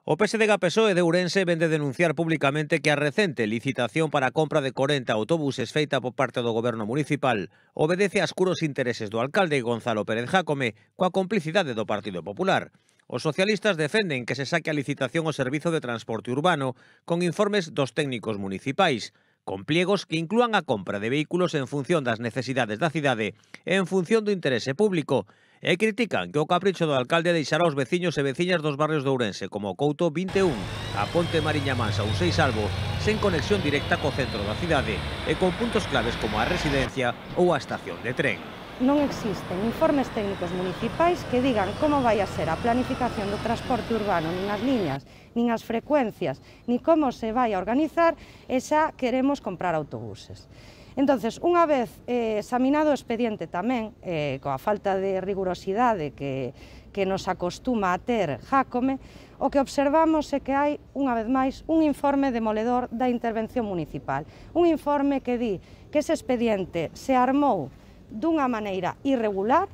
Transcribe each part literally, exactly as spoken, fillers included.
O P S D G P S O E de Ourense vende denunciar públicamente que a recente licitación para a compra de corenta autobuses feita por parte do goberno municipal obedece a escuros intereses do alcalde Gonzalo Pérez Jácome coa complicidade do Partido Popular. Os socialistas defenden que se saque a licitación o servizo de transporte urbano con informes dos técnicos municipais, con pliegos que inclúan a compra de vehículos en función das necesidades da cidade e en función do interese público, e critican que o capricho do alcalde deixará os veciños e veciñas dos barrios de Ourense como o Couto vinte e un, a Ponte Mariña Mansa ou Seisalvo sen conexión directa co centro da cidade e con puntos claves como a residencia ou a estación de tren. Non existen informes técnicos municipais que digan como vai a ser a planificación do transporte urbano, nin as liñas, nin as frecuencias, nin como se vai a organizar e xa queremos comprar autobuses. Entonces, unha vez eh, examinado o expediente tamén, eh, coa falta de rigurosidade que, que nos acostuma a ter Jácome, o que observamos é que hai, unha vez máis, un informe demoledor da intervención municipal. Un informe que di que ese expediente se armou dunha maneira irregular,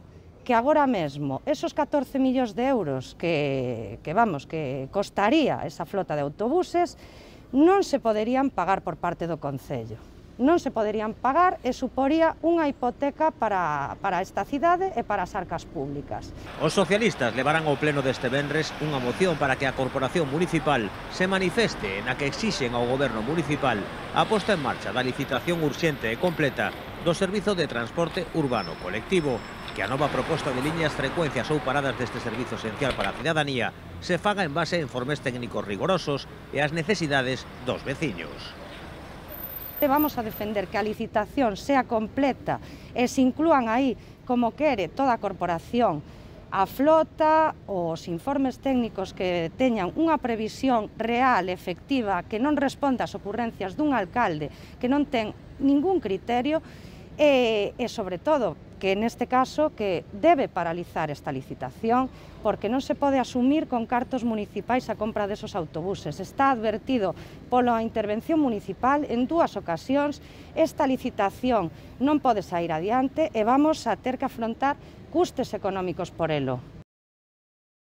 que agora mesmo esos catorce millóns de euros que, que, vamos, que costaría esa flota de autobuses non se poderían pagar por parte do Concello. Non se poderían pagar e suporía unha hipoteca para, para esta cidade e para as arcas públicas. Os socialistas levarán ao pleno deste venres unha moción para que a Corporación Municipal se manifeste na que exixen ao Goberno Municipal a posta en marcha da licitación urxente e completa do servizo de transporte urbano colectivo, que a nova proposta de liñas, frecuencias ou paradas deste servizo esencial para a cidadanía se faga en base a informes técnicos rigorosos e ás necesidades dos veciños. Vamos a defender que a licitación sea completa e se inclúan aí, como quere toda a corporación, a flota, os informes técnicos que teñan unha previsión real, efectiva, que non responda ás ocurrencias dun alcalde que non ten ningún criterio e, e sobre todo, que neste caso que debe paralizar esta licitación porque non se pode asumir con cartos municipais a compra desos autobuses. Está advertido pola intervención municipal en dúas ocasións, esta licitación non pode sair adiante e vamos a ter que afrontar custes económicos por elo.